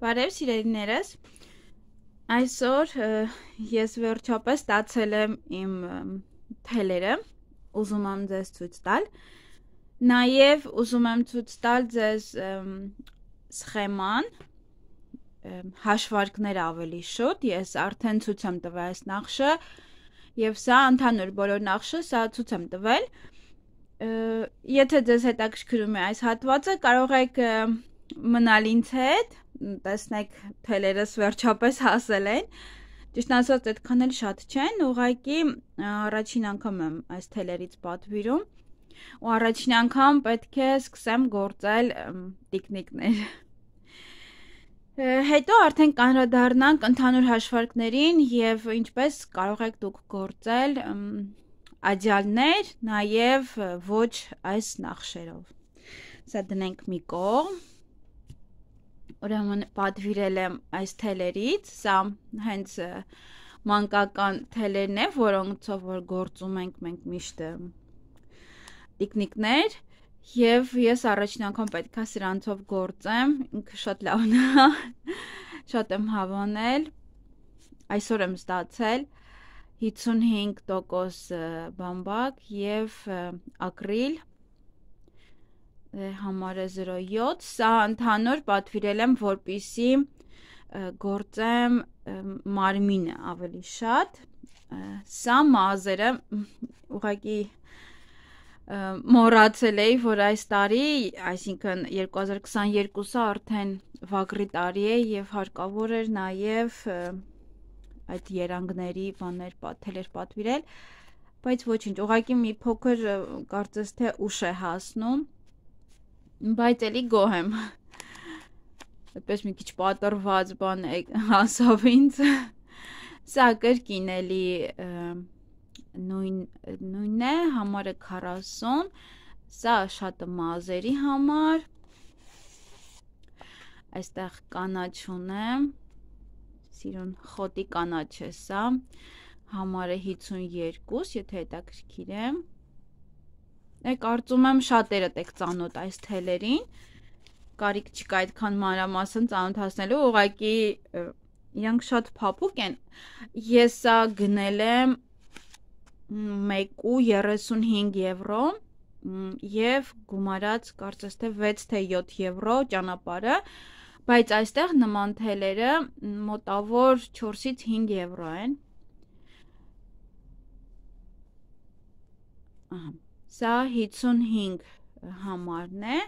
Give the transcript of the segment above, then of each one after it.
Բարև սիրելիներս, այսօր ես վերջապես ստացել եմ իմ թելերը, ուզում եմ ձեզ ցույց տալ, նաև ուզում եմ ցույց տալ ձեզ սխեման, հաշվարկներ ավելի շուտ, ես արդեն ցույց եմ տվել այս նախշը, և սա ընդհանուր բոլոր նախշը, սա ցույց եմ տվել, եթե ձեզ հետաքրքրում է այս հատվածը, կարող եք մնալ ինձ հետ, տեսնեք թելերս վերջապես հասել են, ճիշտ ասած այդքան էլ շատ չեն, ուղղակի առաջին անգամ եմ այս թելերից պատվիրում ու առաջին անգամ պետք է սկսեմ գործել տիկնիկներ։ Հետո արդեն կանրադառնանք ընդհանուր հաշվարկներին և ինչպես կարող եք դուք գործել աջյալներ, նաև ոչ այս նախշերով։ Սա դնենք մի կողմ, ուրեմն պատվիրել եմ այս թելերից, սա հենց մանկական թելերն է, որոնցով որ գործում ենք մենք միշտ տիկնիկներ, և ես առաջին անգամ պետք է սրանցով գործեմ, ինքը շատ լավն է, շատ եմ հավանել, այսօր եմ ստացել 55% բամբակ և ակրիլ, համարը 0.7, սա ընդհանուր պատվիրել եմ, որպեսզի գործեմ մարմինը ավելի շատ, սա մազերը, ուղղակի մոռացել էի, որ այս տարի, այսինքն 2022-ը արդեն վագրի տարի է և հարկավոր էր նաև այդ երանգների թելեր պատվիրել, բայց ոչինչ, ուղղակի մի փոքր կարծես թե ուշ է հասնում, բայց էլի գոհ եմ, այդպես մի քիչ պատրված բան հասավ ինձ, սա կրկին էլի նույնն է, համարը 40, սա շատ մազերի համար, այստեղ կանաչ ունեմ, սիրուն խոտի կանաչ է սա, համարը 52, եթե հետաքրքիր է, կարծում եմ շատերդ եք ծանոթ այս թելերին, կարիք չկա այդքան մանրամասն ծանոթացնելու, ուղղակի իրանք շատ փափուկ են, ես սա գնել եմ 1.35 եվրո և գումարած կարծես թե 6 թե 7 եվրո ճանապարհը, բայց այստեղ նման թելերը մոտավոր 4-ից 5 եվրո են, սա 55 համարն է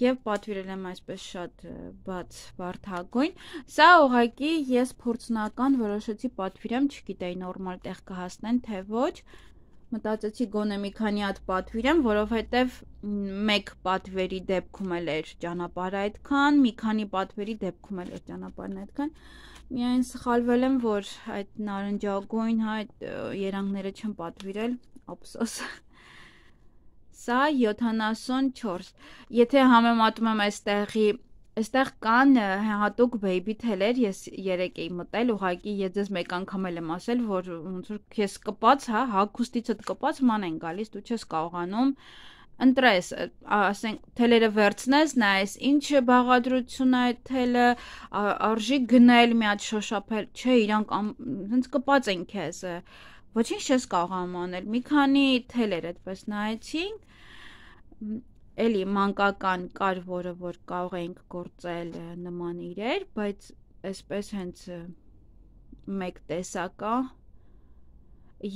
և պատվիրել եմ այսպես շատ բաց վարդագույն, սա ուղղակի ես փորձնական որոշեցի պատվիրեմ, չգիտեի նորմալ տեղ կհասնեն, թե ոչ, մտածեցի գոնե մի քանի հատ պատվիրեմ, որովհետև մեկ պատվերի դեպքում էլ էր ճանապարհը այդքան, մի քանի պատվերի դեպքում էլ էր ճանապարհն այդքան, միայն սխալվել եմ, որ այդ նարնջագույն այդ երանգները չեմ պատվիրել, ափսոս, սա 74, եթե համեմատում եմ այստեղ կան հատուկ բեյբի թելեր, ես երեկ էի մտել, ուղղակի ես ձեզ մեկ անգամ էլ եմ ասել, որ ոնց որ քեզ կպած, հագուստիցդ կպած ման են գալիս, դու չես կարողանում ընտրես, ասենք թելերը վերցնես, նայես ինչ բաղադրություն է այդ թելը, արժի գնել, մի հատ շոշափել, չէ, իրանք հենց կպած են քեզ, ոչինչ չես կարողանում անել, մի քանի թելեր այդպես նայեցինք, էլի մանկական կար, որը որ կարող էինք գործել նման իրեր, բայց այսպես հենց մեկ տեսակա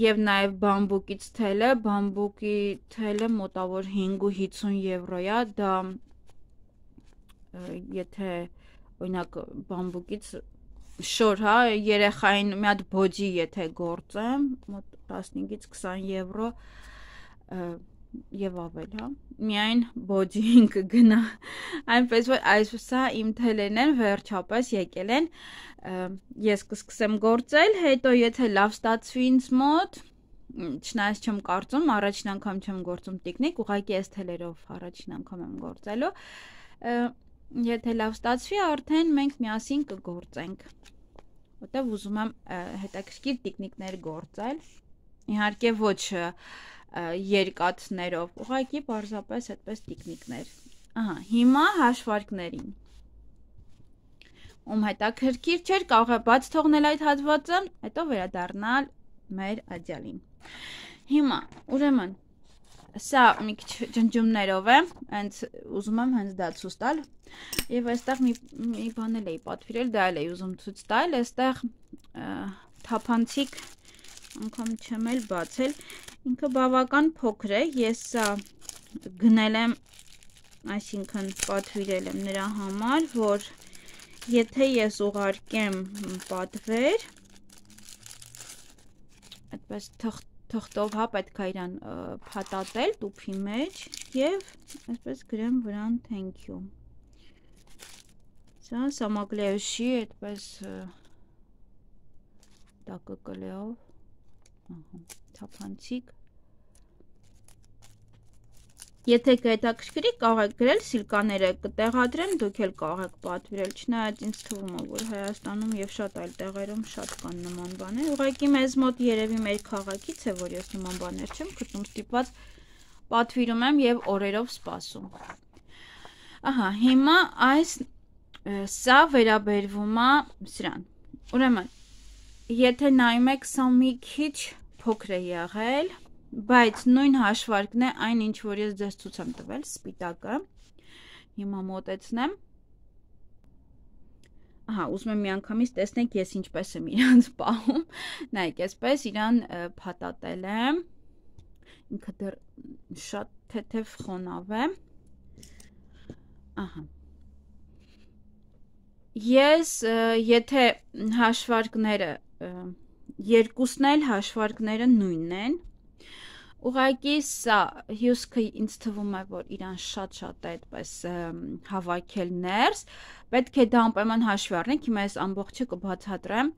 և նաև բամբուկից թելը, բամբուկի թելը մոտավոր 5.50 եվրո է, դա եթե օրինակ բամբուկից շոր, երեխային մի հատ բոջի եթե գործեմ, մոտ 15-ից 20 եվրո և ավել, միայն բոջին կգնա, այնպես որ այսպիսա իմ թելերն են վերջապես եկել են, ես կսկսեմ գործել, հետո եթե լավ ստացվի ինձ մոտ, չնայած չեմ կարծում, առաջին անգամ չեմ գործում տիկնիկ, ուղղակի այս թելերով առաջին անգամ եմ գործելու, եթե լավ ստացվի, արդեն մենք միասին կգործենք, որտև ուզում եմ հետաքրքիր տիկնիկներ գործել, իհարկե ոչ երկաթներով, ուղղակի պարզապես այդպես տիկնիկներ, հիմա հաշվարկներին, ում հետաքրքիր չէր, կարող է բաց թողնել այդ հատվածը, հետո վերադառնալ մեր ադյալին։ Հիմա, ուրեմն, սա մի քիչ ջնջումներով է, հենց ուզում եմ հենց դա ցույց տալ, եւ այստեղ մի բան էլ էի պատվիրել, դա էլ էի ուզում ցույց տալ, այստեղ թափանցիկ անգամ չեմ էլ բացել, ինքը բավական փոքր է, ես սա գնել եմ, այսինքն պատվիրել եմ նրա համար, որ եթե ես ուղարկեմ պատվեր, այդպես թղթով հա պետք է իրան փաթաթել տուփի մեջ եւ այսպես գրեմ վրան thank you։ Սա самоклеющий այդպես տակկլեով, ահա, թափանցիկ։ Եթե կհետաքրքրի, կարող եք գրել սիլկաները կտեղադրեմ, դուք էլ կարող եք պատվիրել, չնայած ինձ թվում է, որ Հայաստանում եւ շատ այլ տեղերում շատ կան նման բաներ։ Ուղղակի մեզ մոտ երևի մեր քաղաքից է, որ ես նման բաներ չեմ գտնում, ստիպված պատվիրում եմ եւ օրերով սպասում։ Ահա, հիմա սա վերաբերվում է սրան։ Ուրեմն, եթե նայում եք, սա մի քիչ փոքր է եղել, բայց նույն հաշվարկն է այն, ինչ որ ես ձեզ ցույց եմ տվել, սպիտակը։ Հիմա մոտեցնեմ։ Ահա, ուզում եմ միանգամից տեսնեք ես ինչպես եմ իրանց պահում։ Նայեք, այսպես իրան փաթաթել եմ։ Ինքը դեռ շատ թեթև խոնավ է։ Ահա։ Ես եթե հաշվարկները երկուսն էլ հաշվարկները նույնն են, ուղղակի սա հյուսքը ինձ թվում է, որ իրան շատ-շատ է այդպես հավաքել ներս, պետք է դա անպայման հաշվի առնենք, հիմա ես ամբողջը կբացատրեմ,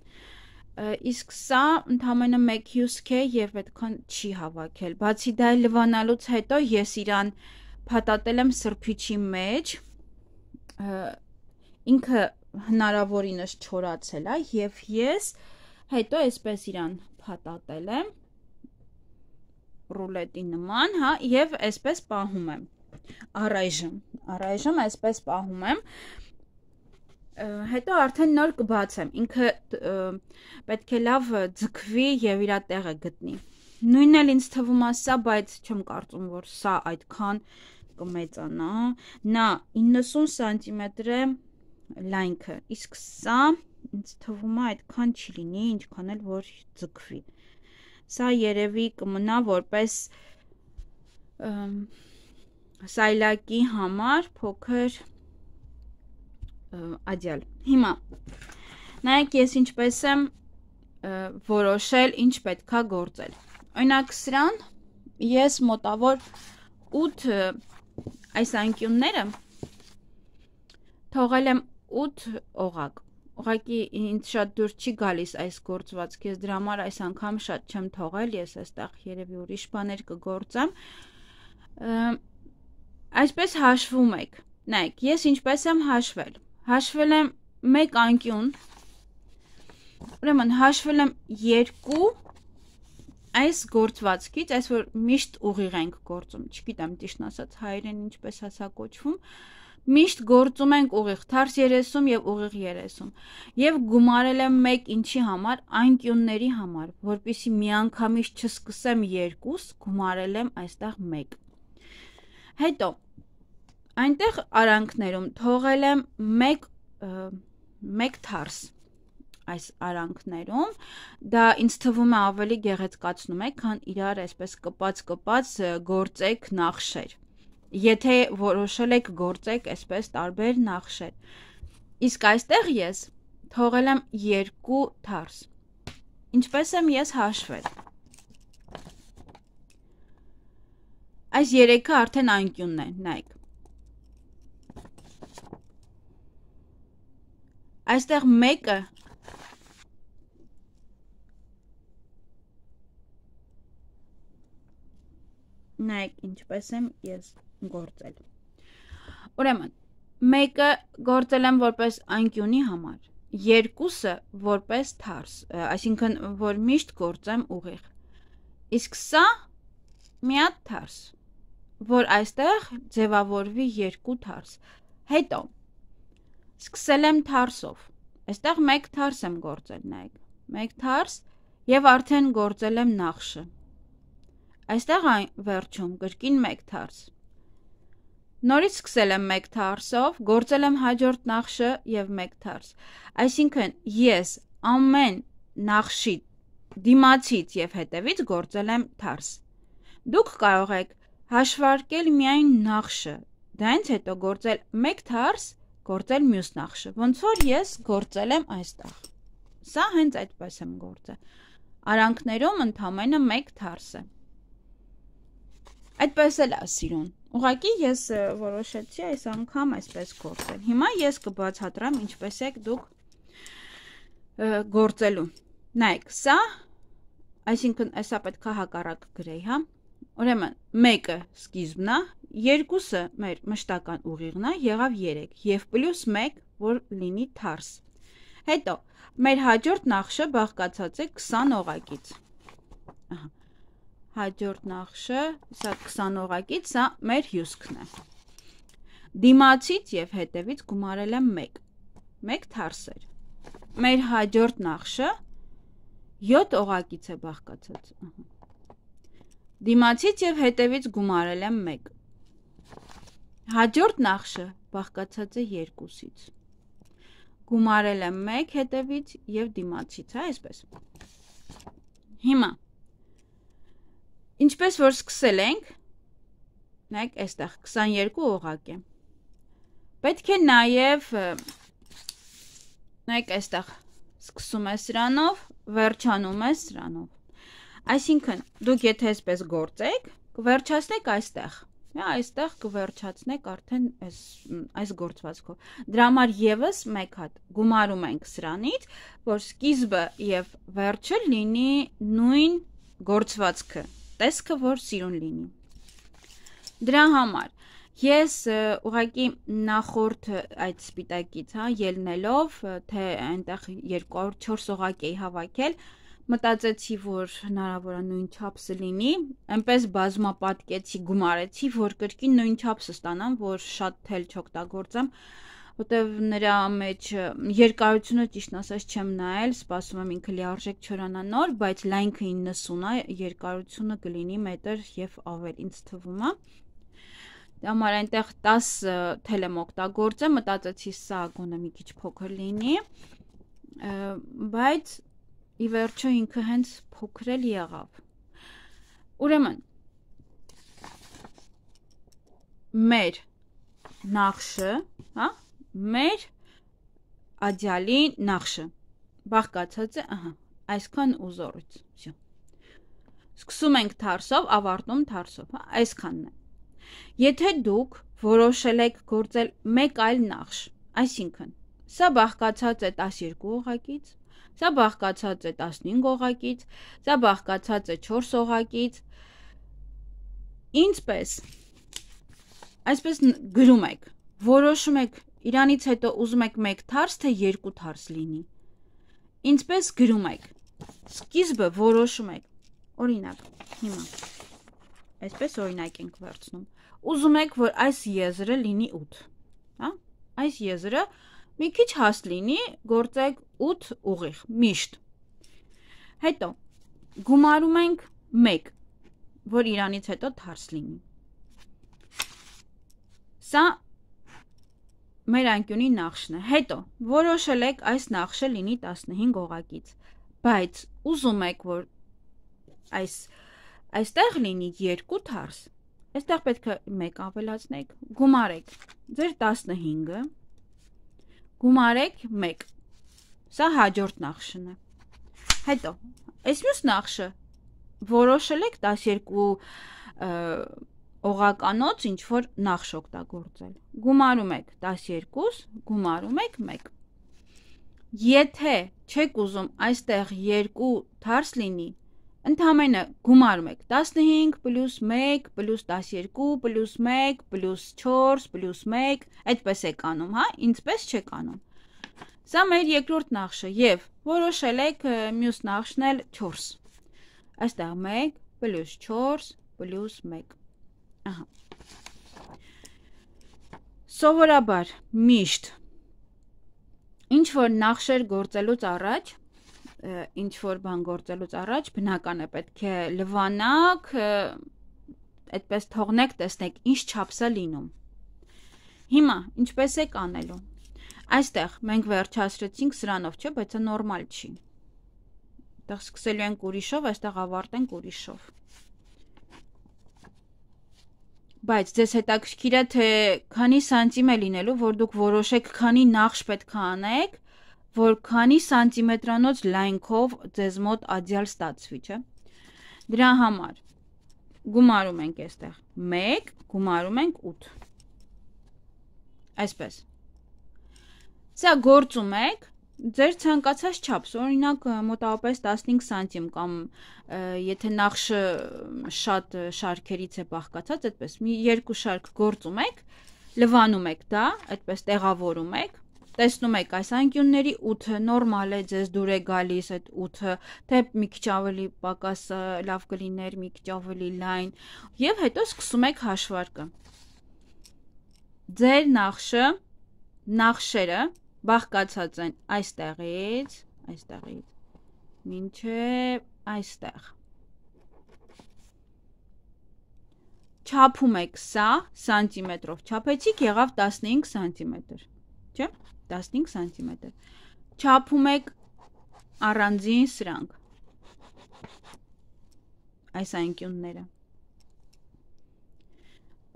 իսկ սա ընդամենը մեկ հյուսք է եւ այդքան չի հավաքել, բացի դա լվանալուց հետո ես իրան փաթաթել եմ սրբիչի մեջ, ինքը հնարավորինս չորացել է եւ ես հետո այսպես իրան փաթաթել եմ ռուլետի նման, հա, եւ այսպես պահում եմ։ Առայժմ այսպես պահում եմ։ Հետո արդեն նոր կբացեմ։ Ինքը պետք է լավ ձգվի եւ իր տեղը գտնի։ Նույնն էլ ինձ թվում է սա, բայց չեմ կարծում, որ սա այդքան կմեծանա։ Նա 90 սանտիմետր է լայնքը, իսկ սա ինձ թվում է այդքան չի լինի, ինչքան էլ որ ձգվի։ Սա երևի կմնա որպես սայլակի համար փոքր ադյալ։ Հիմա նայեք ես ինչպես եմ որոշել ինչ պետքա գործել։ Օրինակ սրան ես մոտավոր 8 այս անկյունները թողել եմ 8 օղակ։ Ուղղակի ինձ շատ դուր չի գալիս այս գործվածքը, ես դրա համար այս անգամ շատ չեմ թողել, ես այստեղ երևի ուրիշ բաներ կգործեմ։ Այսպես հաշվում եք։ Նայեք, ես ինչպես եմ հաշվել։ Հաշվել եմ 1 անկյուն։ Ուրեմն հաշվել եմ 2 այս գործվածքից, այս որ միշտ ուղիղ ենք գործում, չգիտեմ ճիշտն ասած հայերեն ինչպես է սա կոչվում։ Միշտ գործում ենք ուղիղ, թարս 30 եւ ուղիղ 30 եւ գումարել եմ 1 ինչի համար, անկյունների համար, որպեսզի միանգամից չսկսեմ 2, գումարել եմ այստեղ 1։ Հետո այնտեղ արանքներում թողել եմ 1 թարս այս արանքներում, դա ինձ թվում է ավելի գեղեցկացնում է, քան իրար այսպես կպած գործեք նախշեր։ Եթե որոշել եք գործեք այսպես տարբեր նախշեր։ Իսկ այստեղ ես թողել եմ 2 թարս։ Ինչպես եմ ես հաշվել։ Այս 3-ը արդեն անկյունն է, նայեք։ Այստեղ 1-ը նայեք ինչպես եմ ես գործել։ Ուրեմն, 1-ը գործել եմ որպես անկյունի համար, 2-ը որպես թարս, այսինքն որ միշտ գործեմ ուղիղ։ Իսկ սա մի հատ թարս, որ այստեղ ձևավորվի 2 թարս։ Հետո սկսել եմ թարսով, այստեղ մեկ թարս եմ գործել, նայեք, մեկ թարս և արդեն գործել եմ նախշը, այստեղ այն վերջում կրկին մեկ թարս, նորից սկսել եմ մեկ թարսով, գործել եմ հաջորդ նախշը և մեկ թարս, այսինքն ես ամեն նախշի դիմացից և հետևից գործել եմ թարս, դուք կարող եք հաշվարկել միայն նախշը, դրանից հետո գործել մեկ թարս, գործել մյուս նախշը, ոնց որ ես գործել եմ այստեղ, սա հենց այդպես եմ գործել, արանքներում ընդամենը մեկ թարս է, այդպես էլ է սիրուն, ուղղակի ես որոշեցի այս անգամ այսպես գործել, հիմա ես կբացատրեմ ինչպես եք դուք գործելու, նայեք, սա, այսինքն այսա պետք է հակառակ գրեի, հա, ուրեմն մեկը սկիզբն է, երկուսը մեր մշտական ուղիղն է, եղավ 3 և պլյուս 1, որ լինի թարս, հետո մեր հաջորդ նախշը բաղկացած է 20 օղակից, հաջորդ նախշը, սա 20 օղակից, սա մեր հյուսքն է, դիմացից և հետևից գումարել եմ 1 թարս էր, մեր հաջորդ նախշը 7 օղակից է բաղկացած, դիմացից և հետևից գումարել եմ 1, հաջորդ նախշը բաղկացած է 2-ից, գումարել եմ 1 հետևից և դիմացից, այսպես, հիմա, ինչպես որ սկսել ենք, նայեք այստեղ 22 օղակ է, պետք է նաև, նայեք այստեղ սկսում է սրանով, վերջանում է սրանով, այսինքն դուք եթե այսպես գործեք, կվերջացնեք այստեղ, այստեղ կվերջացնեք արդեն այս գործվածքով, դրա համար ևս մեկ հատ գումարում ենք սրանից, որ սկիզբը և վերջը լինի նույն գործվածքը, տեսքը որ սիրուն լինի, դրա համար ես ուղղակի նախորդ այդ սպիտակից ելնելով, թե այնտեղ 204 օղակ էի հավաքել, մտածեցի, որ հնարավոր է նույն չափսը լինի, այնպես բազմապատկեցի, գումարեցի, որ կրկին նույն չափսը ստանամ, որ շատ թել չօգտագործեմ, որտև նրա մեջ երկարությունը ճիշտն ասած չեմ նայել, սպասում եմ ինքը լիարժեք չորանա նոր, բայց լայնքը 90 է, երկարությունը կլինի մետր և ավել, ինձ թվում է, համար այնտեղ 10 թել եմ օգտագործեմ, մտածեցի սա գոնե մի քիչ փոքր լինի, բայց ի վերջո ինքը հենց փոքր էլ եղավ, ուրեմն, մեր նախշը, մեր ադյալի նախշը, բաղկացած է, այսքան ուզորից, սկսում ենք թարսով, ավարտում թարսով, այսքանն է, եթե դուք որոշել եք գործել մեկ այլ նախշ, այսինքն, սա բաղկացած է 12 օղակից, սա բաղկացած է 15 օղակից, սա բաղկացած է 4 օղակից, ինձպես, այսպես գրում եք, որոշում եք, իրանից հետո ուզում եք 1 թարս, թե 2 թարս լինի, ինձպես գրում եք, սկիզբը որոշում եք, օրինակ, հիմա, այսպես օրինակ ենք վերցնում, ուզում եք, որ այս եզրը լինի 8, այս եզրը մի քիչ հաստ լինի, գործեք 8 ուղիղ, միշտ, հետո, գումարում ենք 1, որ իրանից հետո թարս լինի, սա մեր անկյունի նախշն է, հետո, որոշել եք այս նախշը լինի 15 օղակից, բայց ուզում եք, որ այստեղ լինի 2 թարս, այստեղ պետք է 1 ավելացնեք, գումարեք ձեր 15-ը, գումարեք 1, սա հաջորդ նախշն է, հետո, այս մյուս նախշը որոշել եք 12 օղականոց ինչ-որ նախշ օգտագործել, գումարում եք 12, գումարում եք 1, եթե չեք ուզում այստեղ 2 թարս լինի, ընդամենը գումարում եք 15 պլյուս 1 պլյուս 12 պլյուս 1 պլյուս 4 պլյուս 1, այդպես եք անում, ինձպես չեք անում, սա մեր երկրորդ նախշը և որոշել եք մյուս նախշն էլ 4, այստեղ 1 պլյուս 4 պլյուս 1, սովորաբար միշտ, ինչ որ նախշեր գործելուց առաջ, ինչ որ բան գործելուց առաջ բնական է պետք է լվանաք, այդպես թողնեք, տեսնեք ինչ չափս է լինում։ Հիմա ինչպես եք անելու։ Այստեղ մենք վերջացրեցինք սրանով, չէ, բայց դա նորմալ չի։ Այդտեղ սկսելու ենք ուրիշով, այստեղ ավարտենք ուրիշով։ Բայց ձեզ հետաքրքիր է թե քանի սանտիմ է լինելու, որ դուք որոշեք քանի նախշ պետք է անեք, որ քանի սանտիմետրանոց լայնքով ձեզ մոտ ադյալ ստացվի, չէ։ Դրա համար գումարում ենք այստեղ 1, գումարում ենք 8։ Այսպես։ Սա գործում եք ձեր ցանկացած չափս, օրինակ մոտավորապես 15 սանտիմ կամ եթե նախշը շատ շարքերից է բաղկացած, այդպես մի երկու շարք գործում եք, լվանում եք դա, այդպես տեղավորում եք, տեսնում եք այս անկյունների 8-ը նորմալ է, ձեզ դուր է գալիս այդ 8-ը, թե մի քիչ ավելի պակաս լավ կլիներ, մի քիչ ավելի լայն, եւ հետո սկսում եք հաշվարկը։ Ձեր նախշերը բաղկացած են այստեղից, մինչև այստեղ։ Չափում եք սա սանտիմետրով, չափեցիք եղավ 15 սանտիմետր, չէ, 15 սանտիմետր, չափում եք առանձին սրանք, այս անկյունները,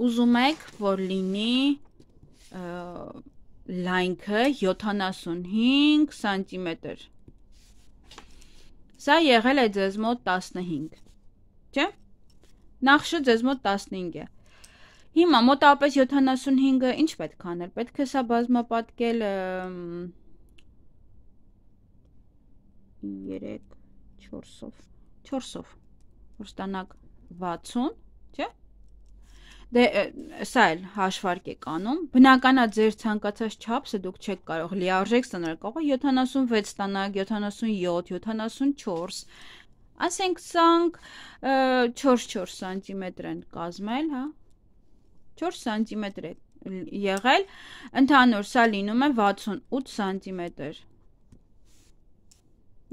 ուզում եք, որ լինի լայնքը 75 սանտիմետր, սա եղել է ձեզ մոտ 15, չէ, նախշը ձեզ մոտ 15 է, հիմա մոտավորապես 75-ը ինչ պետք անել, պետք է սա բազմապատկել 4-ով, որ ստանաք 60, չէ, դե սա էլ հաշվարկ եք անում, բնականա ձեր ցանկացած չափսը դուք չեք կարող լիարժեք ստանալ, կարող է 76 ստանաք, 77, 74, ասենք սանք 4 սանտիմետր են կազմել, հա, 4 սանտիմետր է եղել, ընդհանուր սա լինում է 68 սանտիմետր,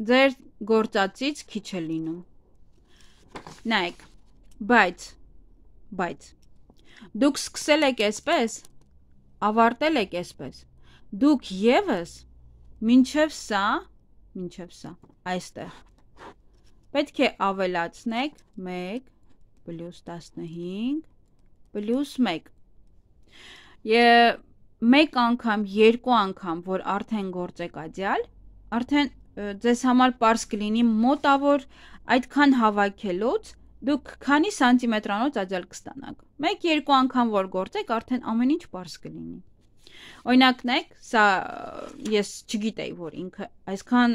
ձեր գործածից քիչ է լինում, նայեք, բայց, դուք սկսել եք այսպես, ավարտել եք այսպես, դուք ևս մինչև սա, այստեղ, պետք է ավելացնեք 1 պլյուս 15 պլյուս 1, մեկ անգամ, երկու անգամ, որ արդեն գործեք ադյալ, արդեն ձեզ համար պարզ կլինի մոտավոր այդքան հավաքելուց, դուք քանի սանտիմետրանոց ադյալ կստանաք, մեկ-երկու անգամ որ գործեք, արդեն ամեն ինչ պարզ կլինի, օրինակն եք, սա ես չգիտեի, որ ինքը այսքան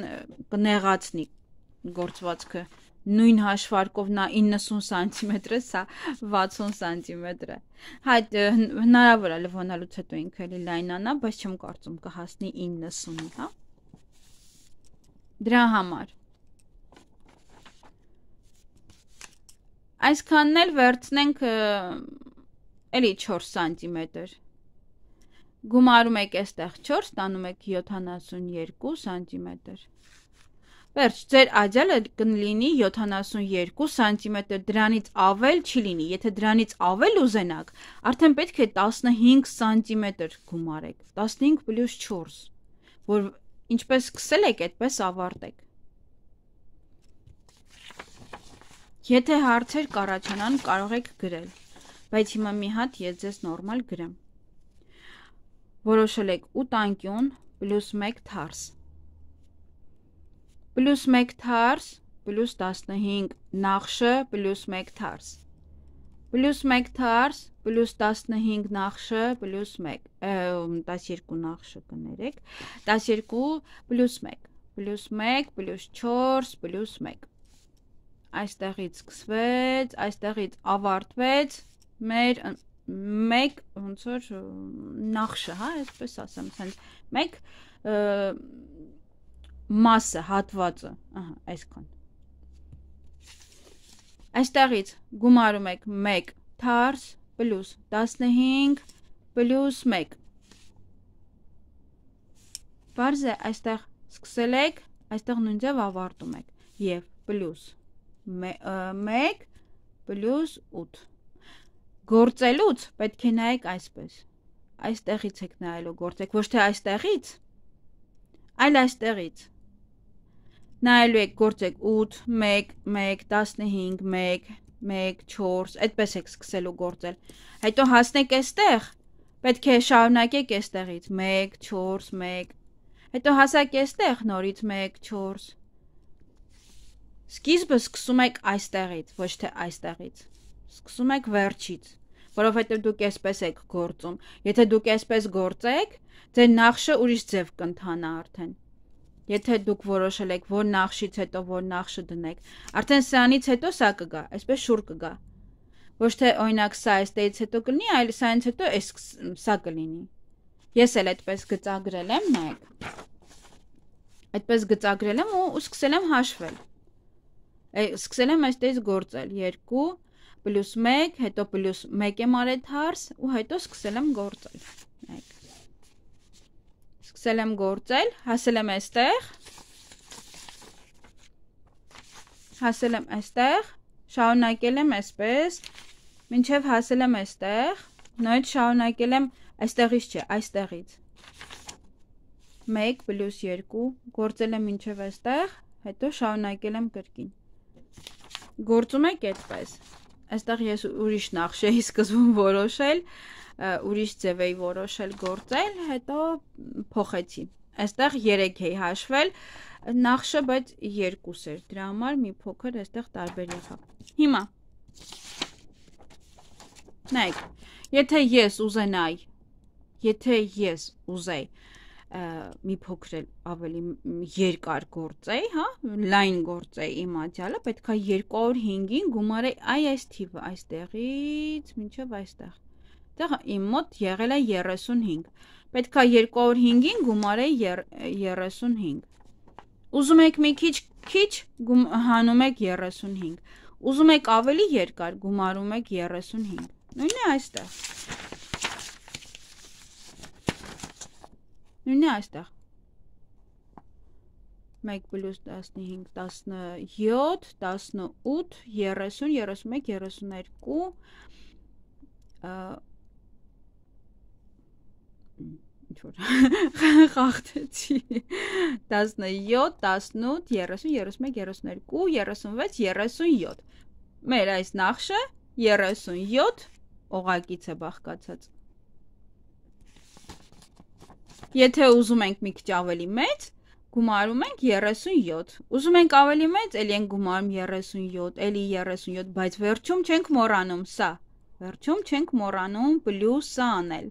կնեղացնի գործվածքը, նույն հաշվարկով նա 90 սանտիմետր է, սա 60 սանտիմետր է, հնարավոր է լվանալուց հետո ինքը էլի լայնանա, բայց չեմ կարծում կհասնի 90-ի, հա, դրա համար, այսքանն էլ վերցնենք էլի 4 սանտիմետր, գումարում եք այստեղ 4, ստանում եք 72 սանտիմետր, վերջ, ձեր ադյալը կլինի 72 սանտիմետր, դրանից ավել չի լինի, եթե դրանից ավել ուզենաք, արդեն պետք է 15 սանտիմետր գումարեք, 15 պլյուս 4, որ ինչպես սկսել եք, այդպես ավարտեք, եթե հարցեր կառաջանան, կարող եք գրել, բայց հիմա մի հատ ես ձեզ նորմալ գրեմ, որոշել եք 8 անկյուն պլյուս 1 թարս, պլյուս 1 թարս, պլյուս 15 նախշը, պլյուս 1 թարս, պլյուս 1 թարս, պլյուս 15 նախշը, պլյուս 1, 12 նախշը կներեք, 12 պլյուս 1, պլյուս 1, պլյուս 4, պլյուս 1, այստեղից սկսվեց, այստեղից ավարտվեց, մեր մեկ ոնց որ նախշը, հա, այսպես ասեմ, մեկ մասը, հատվածը, ահա, այսքան, այստեղից գումարում եք 1 թարս, պլյուս 15, պլյուս 1, Պարզ է, այստեղ սկսել եք, այստեղ նույն ձև ավարտում եք, և պլյուս 1 պլյուս 8, գործելուց պետք է նայեք այսպես, այստեղից եք նայելու գործեք, ոչ թե այստեղից, այլ այստեղից, նայելու եք գործեք 8, 1, 1, 15, 1, 1, 4, այդպես եք սկսելու գործել, հետո հասնեք այստեղ, պետք է շարունակեք այստեղից, 1, 4, 1, հետո հասակ այստեղ նորից 1, 4, սկիզբը սկսում եք այստեղից, ոչ թե այստեղից, սկսում եք վերջից, որովհետև դուք այսպես եք գործում, եթե դուք այսպես գործեք, ձեր նախշը ուրիշ ձև կընթանա արդեն, եթե դուք որոշել եք, որ նախշից հետո որ նախշը դնեք, արդեն սրանից հետո սա կգա, այսպես շուր կգա, ոչ թե օրինակ սա այստեղից հետո կլինի, այլ սրանից հետո սա կլինի, ես էլ այդպես գծագրել եմ, նայեք, այդպես գծագրել եմ ու սկսել եմ հաշվել, սկսել եմ այստեղից գործել, 2, պլյուս 1, հետո պլյուս 1 եմ արել թարս ու հետո սկսել եմ գործել, նայեք, սկսել եմ գործել, հասել եմ այստեղ, շարունակել եմ այսպես, մինչև հասել եմ այստեղ, նույնիսկ շարունակել եմ այստեղից չէ, այստեղից, 1 պլյուս 2, գործել եմ մինչև այստեղ, հետո շարունակել եմ կրկին, գործում եք այդպես, այստեղ ես ուրիշ նախշ էի սկզբում որոշել, ուրիշ ձև էի որոշել գործել, հետո փոխեցի, այստեղ 3 էի հաշվել, նախշը, բայց 2 էր, դրա համար մի փոքր այստեղ տարբեր եղավ, հիմա, նայեք, եթե ես ուզեի մի փոքր ավելի երկար գործեի, հա, լայն գործեի իմ ադյալը, պետք է 205-ին գումարեի այս թիվը, այստեղից մինչև այստեղ, այստեղ իմ մոտ եղել է 35, պետք է 205-ին գումարեի 35, ուզում եք մի քիչ հանում եք 35, ուզում եք ավելի երկար գումարում եք 35, նույնն է այստեղ, նույնն է այստեղ, 1 պլյուս 15, 17, 18, 30, 31, 32, խաղթեցի, 17, 18, 30, 31, 32, 36, 37, մեր այս նախշը 37 օղակից է բաղկացած, եթե ուզում ենք մի քիչ ավելի մեծ, գումարում ենք 37, ուզում ենք ավելի մեծ, էլի ենք գումարում 37, էլի 37, բայց վերջում չենք մոռանում սա, վերջում չենք մոռանում պլյուսը անել,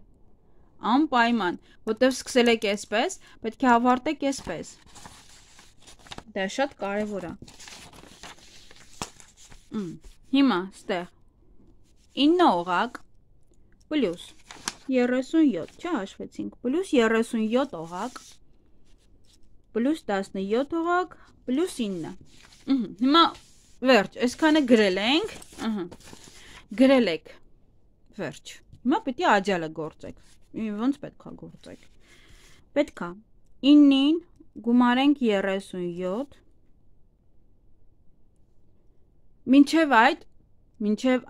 անպայման, որտև սկսել եք այսպես, պետք է ավարտեք այսպես, դա շատ կարևոր է, հիմա ստեղ, 9 օղակ, պլյուս 37, չհաշվեցինք, պլյուս 37 օղակ, պլյուս 17 օղակ, պլյուս 9, հիմա վերջ, այսքանը գրել ենք, գրել եք, վերջ, հիմա պետք է աջալը գործեք, ոնց պետք է գործեք, պետք է 9-ին գումարենք 37, մինչև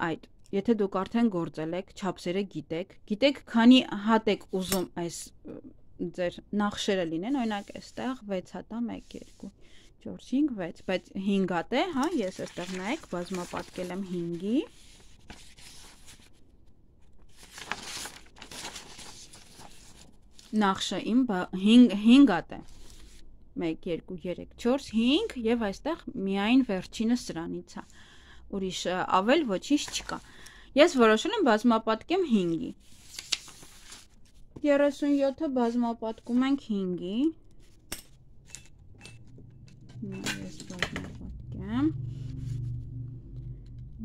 այդ, եթե դուք արդեն գործել եք, չափսերը գիտեք քանի հատ եք ուզում այս ձեր նախշերը լինեն, օրինակ այստեղ 6 հատ է, 1, 2, 4, 5, 6, բայց 5 հատ է, հա, ես այստեղ նայեք, բազմապատկել եմ 5-ի, նախշը իմ 5 հատ է, 1, 2, 3, 4, 5 և այստեղ միայն վերջինը սրանից է, ուրիշ ավել ոչինչ չկա, ես որոշել եմ բազմապատկեմ 5-ի, 37-ը բազմապատկում ենք 5-ի, ես բազմապատկեմ,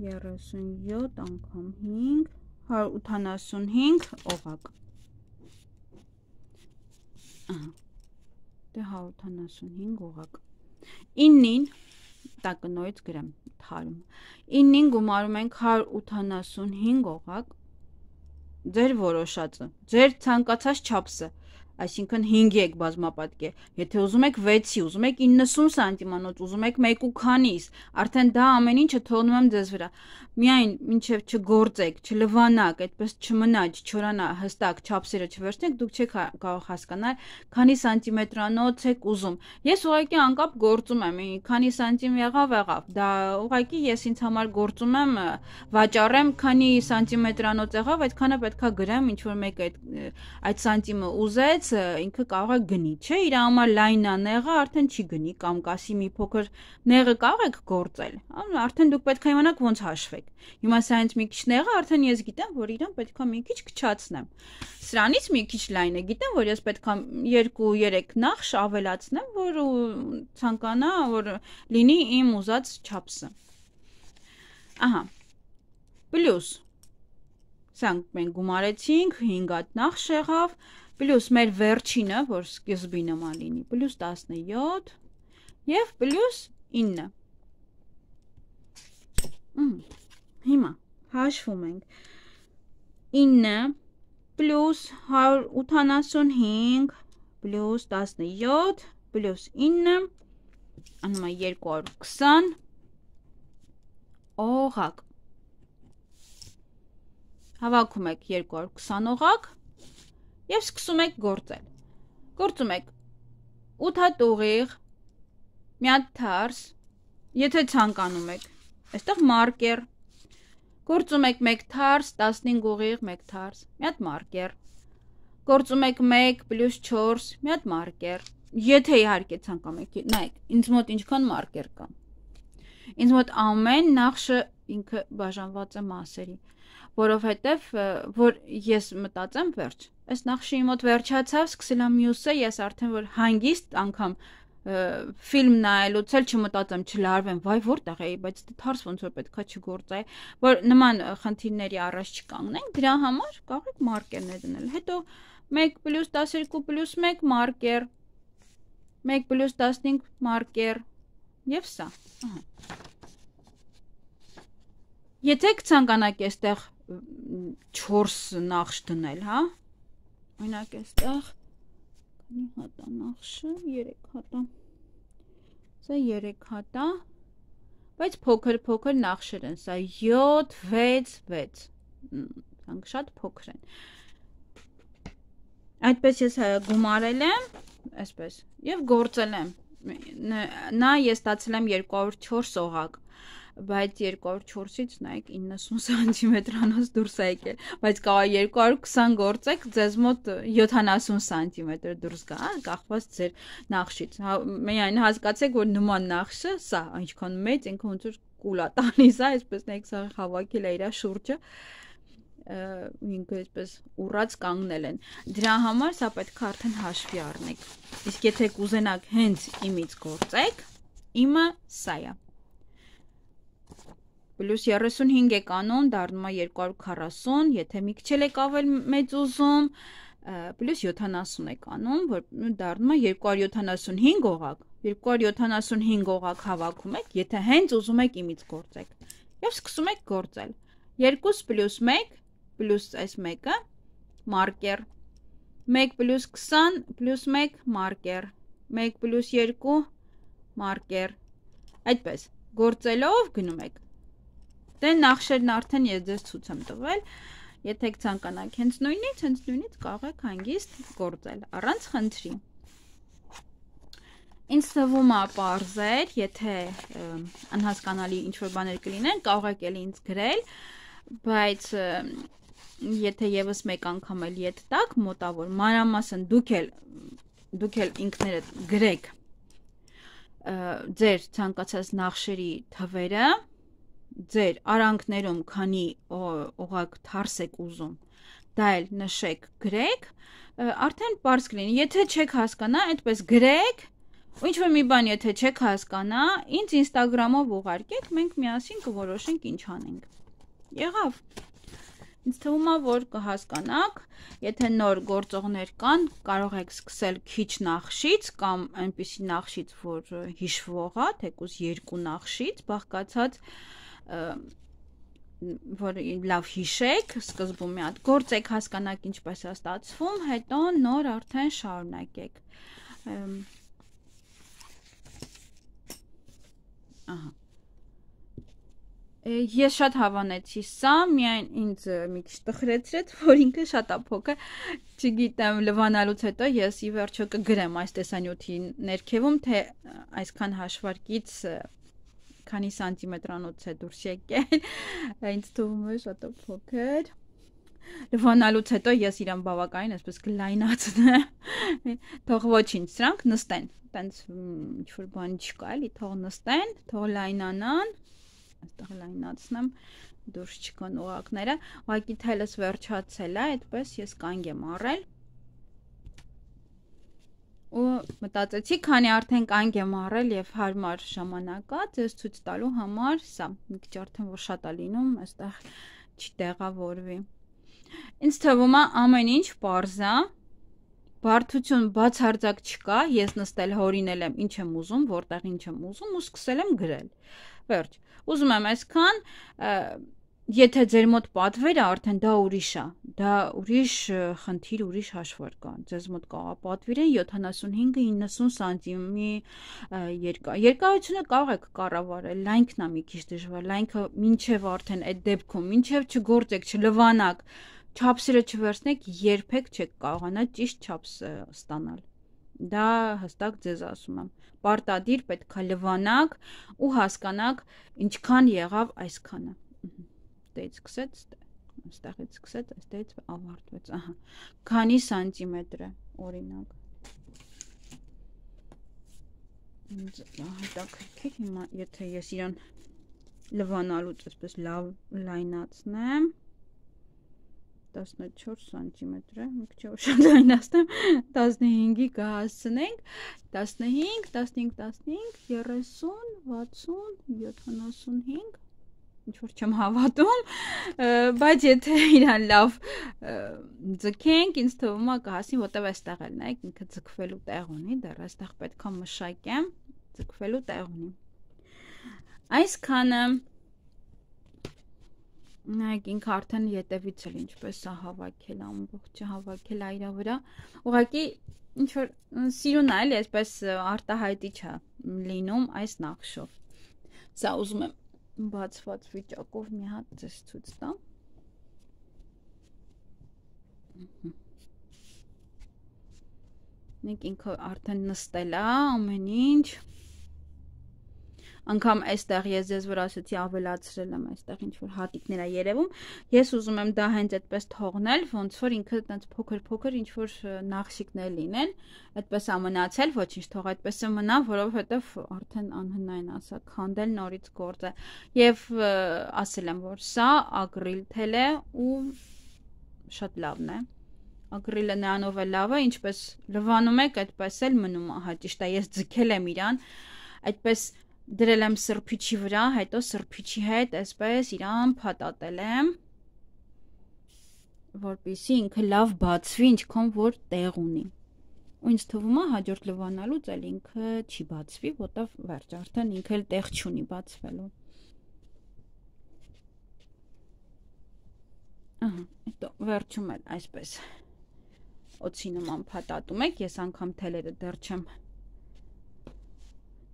37 անգամ 5, 185 օղակ, դե 185 օղակ, 9-ին, տակը նորից գրեմ, թարում, 9-ին գումարում ենք 185 օղակ, ձեր որոշածը, ձեր ցանկացած չափսը, Այսինքն 5-ի եք բազմապատկել։ Եթե ուզում եք 6-ի, ուզում եք 90 սանտիմանոց, ուզում եք 1 ու քանիս, արդեն դա ամեն ինչը թողնում եմ ձեզ վրա։ Միայն մինչև չգործեք, չլվանաք, այդպես չմնա, չչորանա, հստակ չափսերը չվերցնեք, դուք չեք կարող հասկանալ, քանի սանտիմետրանոց եք ուզում։ Ես ուղղակի անկապ գործում եմ, քանի սանտիմ եղավ, դա ուղղակի ես ինձ համար գործում եմ, վաճառեմ, քանի սանտիմետրանոց եղավ, այդքանը պետքա գրեմ, ինչ որ մեկը այդ սանտիմը ուզեց, ինքը կարող է գնի, չէ, իր համար լայնա նեղը արդեն չի գնի, կամ կասի մի փոքր նեղը կարող եք գործել, արդեն դուք պետք է իմանաք ոնց հաշվեք։ Հիմա սրանից մի քիչ նեղը արդեն ես գիտեմ, որ իրան պետքա մի քիչ կչացնեմ։ Սրանից մի քիչ լայնը գիտեմ, որ ես պետքա 2-3 նախշ ավելացնեմ, որ ցանկանա, որ լինի իմ ուզած չափսը։ Ահա։ Պլյուս Սրանք մենք գումարեցինք, 5 հատ նախշ եղավ, պլյուս մեր վերջինը, որ սկզբի նման լինի, պլյուս 17 և պլյուս 9։ Հիմա հաշվում ենք 9 պլյուս 185 պլյուս 17 պլյուս 9 անում է 220 օղակ։ Հավաքում եք 220 օղակ և սկսում եք գործել։ Գործում եք 8 հատ ուղիղ, մի հատ թարս, եթե ցանկանում եք, այստեղ մարկեր, գործում եք 1 թարս, 15 ուղիղ, 1 թարս, մի հատ մարկեր, գործում եք 1 պլյուս 4, մի հատ մարկեր, եթե իհարկե ցանկանում եք, նայեք, ինձ մոտ ինչքան մարկեր կա։ Ինձ մոտ ամեն նախշը ինքը բաժանված է մասերի, որովհետև որ ես մտածեմ վերջ, այս նախշի մոտ վերջացավ, սկսել եմ մյուսը, ես արդեն որ հանգիստ անգամ ֆիլմ նայելուց էլ չմտածեմ, չլարվեմ, վայ որտեղ էի, բայց թարս ոնց որ պետքա չգործայի, որ նման խնդիրների առաջ չկանգնենք, դրա համար կարող եք մարկերներ դնել, հետո 1 պլյուս 12 պլյուս 1 մարկեր, 1 պլյուս 15 մարկեր և սա, եթե կցանկանաք էստեղ 4 նախշ դնել, հա, օրինակ էստեղ քանի հատա նախշը, 3 հատա, սա 3 հատա, բայց փոքր նախշեր են, սա 7, 6, 6, սրանք շատ փոքր են, այդպես ես գումարել եմ, այսպես, և գործել եմ, նա ես ստացել եմ 204 օղակ, բայց 204-ից նայեք 90 սանտիմետրանոց դուրս է եկել, բայց կարող 220 գործեք, ձեզ մոտ 70 սանտիմետր դուրս գա, կախված ձեր նախշից, միայն հասկացեք, որ նման նախշը, սա այնքան մեծ, ինքը ոնց որ կուլա տալիս է, այսպես նայեք, սա հավաքել է իր շուրջը, ինքը այսպես ուռած կանգնել են, դրա համար սա պետք է արդեն հաշվի առնեք, իսկ եթե կուզենաք հենց իմից գործեք, իմը սա է, պլյուս 35 եք անում, դառնում է 240, եթե մի քիչ եք ավել մեծ ուզում, պլյուս 70 եք անում, որ դառնում է 275 օղակ, 275 օղակ հավաքում եք, եթե հենց ուզում եք իմից գործեք, և սկսում եք գործել, 2 պլյուս 1, պլյուս այս մեկը, մարկեր, 1 պլյուս 20, պլյուս 1, մարկեր, 1 պլյուս 2, մարկեր, այդպես, գործելով գնում եք, դե նախշերն արդեն ես ձեզ ցույց եմ տվել, եթե ցանկանաք հենց նույնից կարող եք հանգիստ գործել, առանց խնդրի։ Ինձ թվում է պարզ էր, եթե անհասկանալի ինչ-որ բաներ կլինեն, կարող եք էլի ինձ գրել, բայց եթե ևս մեկ անգամ էլ ետ տակ, մոտավոր, մանրամասն դուք էլ ինքներդ գրեք ձեր ցանկացած նախշերի թվերը, ձեր արանքներում քանի օղակ թարս եք ուզում, դա էլ նշեք, գրեք, արդեն պարզ կլինի, եթե չեք հասկանա, այդպես գրեք, ու ինչ-որ մի բան եթե չեք հասկանա, ինձ ինստագրամով ուղարկեք, մենք միասին կորոշենք ինչ անենք, եղավ, ինձ թվում է, որ կհասկանաք, եթե նոր գործողներ կան, կարող եք սկսել քիչ նախշից, կամ այնպիսի նախշից, որ հիշվող է, թեկուզ 2 նախշից, բաղկացած որ լավ հիշեք, սկզբում մի հատ գործեք, հասկանաք ինչպես է ստացվում, հետո նոր արդեն շարունակեք։ Ահա։ Ես շատ հավանեցի սա, միայն ինձ մի քիչ տխրեցրեց, որ ինքը շատ է փոքր, չգիտեմ, լվանալուց հետո ես ի վերջո կգրեմ այս տեսանյութի ներքևում, թե այսքան հաշվարկից քանի սանտիմետրանոց է դուրս եկել, ինձ թվում է շատ փոքր։ Լվանալուց հետո ես իրան բավականին այսպես կլայնացնեմ, թող ոչինչ, սրանք նստեն, տենց ինչ-որ բան չկա, էլի, թող նստեն, թող լայնանան, այստեղ լայնացնեմ, դուրս չկան ուղակները, ուղղակի թելս վերջացել է, այդպես ես կանգ եմ առել, ու մտածեցի, քանի արդեն կանգ եմ առել եւ հարմար ժամանակ է, ձեզ ցույց տալու համար, սա մի քիչ արդեն որ շատ է լինում, այստեղ չտեղավորվի։ Ինձ թվում է ամեն ինչ պարզ է, բարդություն բացարձակ չկա, ես նստել հորինել եմ ինչ եմ ուզում, որտեղ ինչ եմ ուզում ու սկսել եմ գրել։ Վերջ, ուզում եմ այսքան, եթե ձեր մոտ պատվերը արդեն դա ուրիշ է, դա ուրիշ խնդիր, ուրիշ հաշվարկ կա, ձեզ մոտ կա պատվիրեն 75-90 սանտիմի երկարությունը կարող եք կառավարել, լայնքն է մի քիչ դժվար, լայնքը մինչև արդեն այդ դեպքում, մինչև չգործեք, չլվանաք, չափսերը չվերցնեք, երբեք չեք կարողանա ճիշտ չափս ստանալ։ Դա հստակ ձեզ ասում եմ։ Պարտադիր պետք է լվանաք ու հասկանաք ինչքան եղավ այսքանը։ Այստեղից սկսեց, այստեղից սկսեց, այստեղից ավարտվեց, ահա, քանի սանտիմետր է, օրինակ։ Հետաքրքիր, հիմա, եթե ես իրան լվանալուց այսպես լավ լայնացնեմ, 14 սանտիմետր է, մի քիչ շատ լայնացնեմ, 15-ի կհասցնենք, 15, 15, 15, 30, 60, 75, ինչ-որ չեմ հավատում, բայց եթե իրան լավ ձգենք, ինձ թվում է կհասնի, որտև այստեղ էլ նայեք, ինքը ձգվելու տեղ ունի, դեռ այստեղ պետք է մշակեմ, ձգվելու տեղ ունի։ Այսքանը նայեք ինքը արդեն ետևից էլ ինչպես է հավաքել, ամբողջը հավաքել այրա վրա, ուղղակի ինչ-որ սիրուն է, էլի այսպես արտահայտիչ է լինում այս նախշով։ Սա ուզում եմ բացված վիճակով մի հատ ձեզ ցույց տամ։ Նայեք ինքը արդեն նստել է, ամեն ինչ։ Անգամ այստեղ ես ձեզ որ ասեցի ավելացրել եմ, այստեղ ինչ-որ հատիկներ է երևում, ես ուզում եմ դա հենց այդպես թողնել, ոնց որ ինքը այդպես փոքր-փոքր ինչ-որ նախշիկներ լինեն, այդպես է մնացել, ոչինչ թող այդպես է մնա, որովհետև արդեն անհնարին ասա, քանդել նորից գործ է, եւ ասել եմ, որ սա ակրիլ թել է ու շատ լավն է, ակրիլը նրանով է լավ է, ինչպես լվանում եք, այդպես էլ մնում, ահա ճիշտ է, ես ձգել եմ իրան, այդպես դրել եմ սրբիչի վրա, հետո սրբիչի հետ այսպես իրան փաթաթել եմ, որպեսզի ինքը լավ բացվի, ինչքան որ տեղ ունի։ Ու ինձ թվում է հաջորդ լվանալուց էլ ինքը չի բացվի, որտեղ վերջ արդեն ինքը էլ տեղ չունի բացվելու։ Ահա, հետո վերջում էլ այսպես օծի նման փաթաթում եք, ես անգամ թելերը դեռ չեմ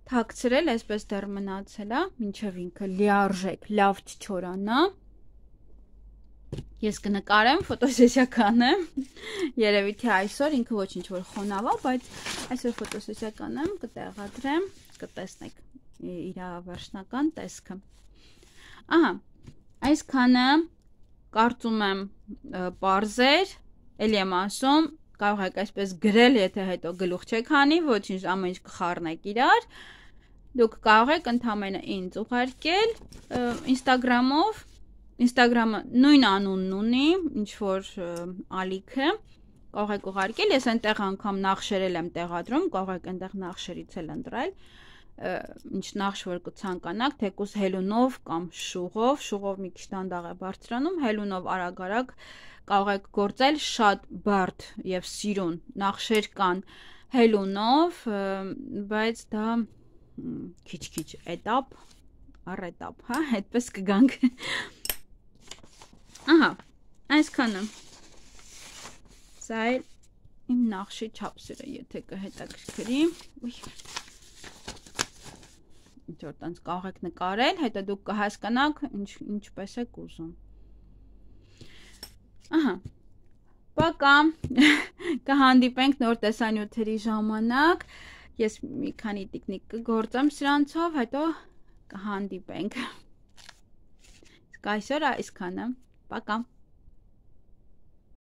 թաքցրել, այսպես դեռ մնացել է, մինչև ինքը լիարժեք, լավ չչորանա։ Ես կնկարեմ, ֆոտոսեսիա կանեմ, երևի թե այսօր ինքը ոչինչ որ խոնավ է, բայց այսօր ֆոտոսեսիա կանեմ, կտեղադրեմ, կտեսնեք իր վերջնական տեսքը։ Ահա, այսքանը կարծում եմ պարզեր, էլի եմ ասում, կարող եք այսպես գրել, եթե հետո գլուխ չեք հանի, ոչինչ ամեն ինչ կխառնեք իրար, դուք կարող եք ընդամենը ինձ ուղարկել Instagram-ով, Instagram-ը նույն անունն ունի, ինչ որ ալիքը, կարող եք ուղարկել, ես այնտեղ անգամ նախշերել եմ տեղադրում, կարող եք այնտեղ նախշերից էլ ընտրել, ինչ նախշ որ կցանկանաք, թեկուզ հելունով կամ շուղով մի քիչ դանդաղ է բարձրանում, հելունով արագ-արագ կարող եք գործել, շատ բարդ եւ սիրուն նախշեր կան հելունով, բայց դա քիչ-քիչ էտապ առ էտապ, հա, այդպես կգանք։ Այսքանը։ Սա էլ իմ նախշի չափսերը, եթե կհետաքրքրի։ Ուй։ Ինչ որ տենց կարող եք նկարել, հետո դուք կհասկանաք ինչպես եք ուզում։ Ահա։ Պակա։ Կհանդիպենք նոր տեսանյութերի ժամանակ։ Ես մի քանի տիկնիկ կգործեմ սրանցով, հետո կհանդիպենք։ Իսկ այսօր այսքանը։ Պակա։